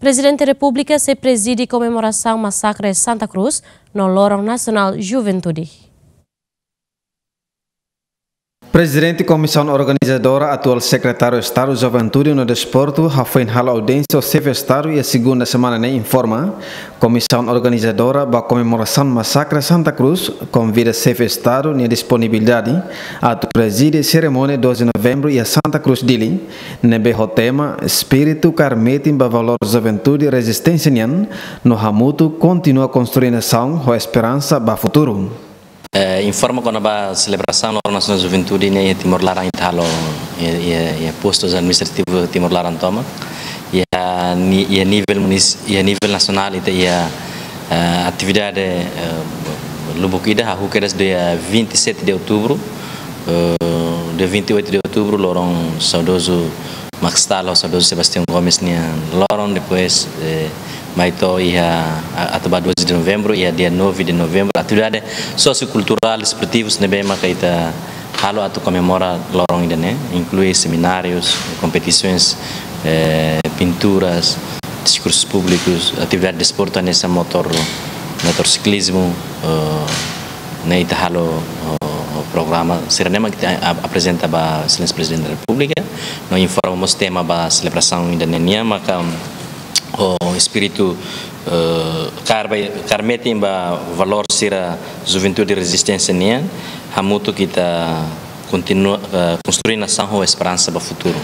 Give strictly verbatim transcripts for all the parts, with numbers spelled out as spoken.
Prezidente Repúblika sei prezide komemorasaun Masakre Santa Cruz no Loron Nasionál Juventude. Prezidente Komisaun Organizadora, atuál Sekretáriu Estadu Juventude no Desportu, hafoin halo audiénsia ho Xefe Estadu iha segunda semana ne'e informa, Komisaun Organizadora ba komemorasaun Masakre Santa Cruz konvida Xefe Estadu nia disponibilidade atu prezide serimónia doze de Novembru iha Santa Cruz, Dili, ne'ebé ho tema Espíritu kaer metin ba valór juventude rezisténsia nian, no hamutuk kontinua konstrui nasaun ho esperansa ba futuru. Eh, informa kona-ba selebrasaun Loron Nasionál Juventude ne'e iha Timor Laran ita halo iha, iha, iha postus administrativu Timor Laran tomak. Iha ni-, iha nivel munis-, iha nivel nasionál ita iha, eh, atividade, eh, lubuk ida hahú kedas dia vinte e sete de outubro, eh, dia vinte e oito de outubro, loron saudozu Max Stahl ho saudozu Sebastião Gomes nia loron, depois, eh, mai to'o iha a-, atu ba doze de Novembru, iha dia nove de Novembru, atividade sosiokulturál, desportivus ne'ebé maka ita halo atu komemora loron ida-ne'e, inklui seminárius, kompetisoens, eh, pinturas, diskursus públikus, atividade desportu hanesan motor, motorsiklizmu, eh, ne'e ita halo, eh, programa sira-ne'e mak ita a-, aprezenta ba Exelénsia Prezidente da Repúblika, no informa mós tema ba selebrasaun ida-ne'e nian maka ho espíritu, eh, kaer ba, kaer metin ba valór sira juventude rezisténsia nian, hamutuk ita kontinua, eh, konstrui nasaun ho esperansa ba futuru.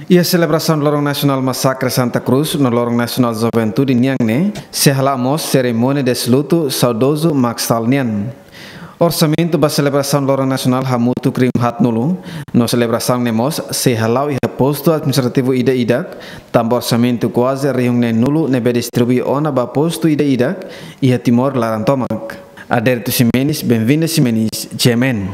Iha selebrasaun Loron Nasionál Masakre Santa Cruz no Loron Nasionál Juventude nian ne'e, sei hala'o mós serimónia deslutu saudozu Max Stahl nian. Orsamentu ba selebrasaun Loron Nasionál hamutuk rihun haatnulu, no selebrasaun ne'e mós sei hala'o iha postu administrativu ida-idak, tanba orsamentu kuaze rihun neenulu ne'ebé distribui ona ba postu ida-idak iha Timor Laran tomak. Adérito Ximenes, Benvinda Ximenes, G M N.